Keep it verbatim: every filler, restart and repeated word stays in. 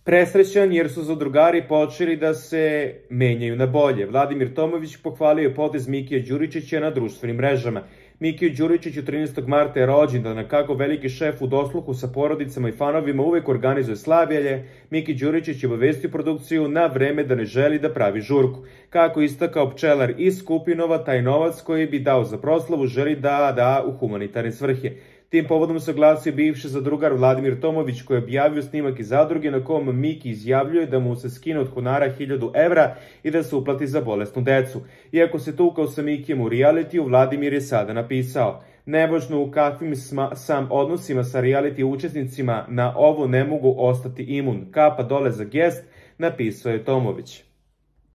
presrećan jer su zadrugari počeli da se menjaju na bolje. Vladimir Tomović pohvalio potez Mikija Đuričića na društvenim mrežama. Mikiju Đuričiću trinaestog marta je rođendan, a kako veliki šef u dosluhu sa porodicama i fanovima uvek organizuje slavlje, Miki Đuričić je obavestio produkciju na vreme da ne želi da pravi žurku. Kako istakao pčelar iz Skupinova, taj novac koji bi dao za proslavu želi da da u humanitarne svrhe. Tim povodom se oglasio bivši zadrugar Vladimir Tomović, koji je objavio snimak iz zadruge na kom Miki izjavljuje da mu se skine od honara hiljadu evra i da se uplati za bolesnu decu. Iako se tukao sa Mikijem u realitiju, Vladimir je sada napisao: "Nevažno u kakvim sam odnosima sa reality učesnicima, na ovo ne mogu ostati imun. Kapa dole za gest", napisao je Tomović.